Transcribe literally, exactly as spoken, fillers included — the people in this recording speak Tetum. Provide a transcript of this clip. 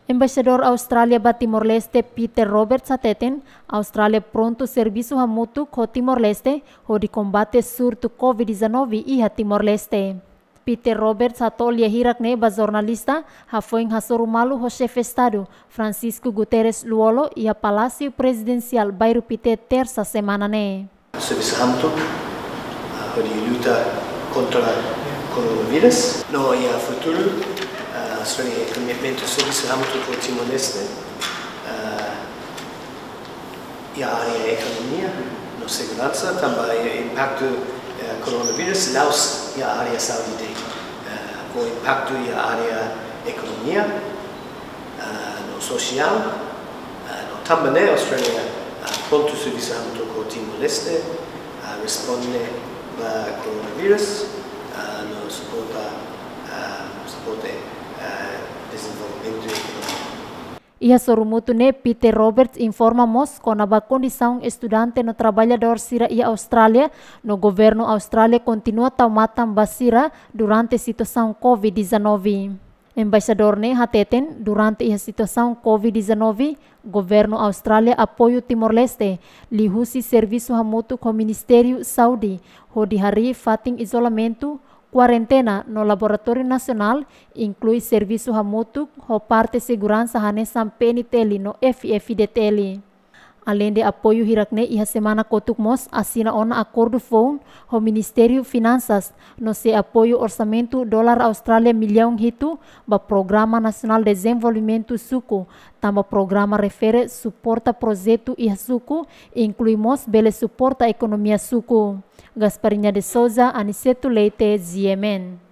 Embaixadór Austrália ba Timor-Leste, Peter Roberts, hateten Austrália prontu servisu hamutuk ho Timor-Leste hodi kombate surtu covid dezanove iha Timor-Leste. Peter Roberts hato'o lia hirak-ne'e ba jornalista hafoin hasoru malu ho Xefe Estadu, Francisco Guterres Lú-Olo, iha Palásiu Prezidensiál Bairru Pité, Tersa semana ne'e. Servisu hamutuk, ah, hodi luta kontra koronavírus. No iha futuru, ah, Austrália iha komitmentu servisu hamutuk ho Timor-Leste, ah, iha área ekonomia no seguransa, tanba iha impaktu, eh, koronavírus la'ós iha área saúde de'it. Eh, ho impaktu iha área ekonomia, ah, no sosiál, ah, no tanba ne'e Austrália, ah, prontu servisu hamutuk ho Timor-Leste, ah, responde ba koronavírus, ah, no suporta, ah, suporta, ah, dezenvolvimentu ekonomia. Iha sorumutu ne'e, Peter Roberts informa mós kona-ba kondisaun estudante no traballadór sira iha Austrália, no governu Austrália kontinua tau matan ba sira durante situasaun covid dezanove. Embaixadór ne'e hateten, durante iha situasaun covid dezanove, governu Austrália apoiu Timor-Leste liuhusi servisu hamutuk ho Ministériu Saúde hodi harii fatin izolamentu, kuarentena no laboratóriu nasionál, inklui servisu hamutuk ho parte seguransa hanesan P N T L no F F D T L. Aleinde apoiu hirak-ne'e, iha semana kotuk mós asina ona akordu foun ho Ministériu Finansas, no sei apoiu orsamentu dolar Austrália millaun hitu ba Programa Nasionál Dezenvolvimentu Suku, tanba programa refere suporta projetu iha suku, inklui mós bele suporta ekonomia suku. Gasparinha de Souza, Aniceto Leite, G M N.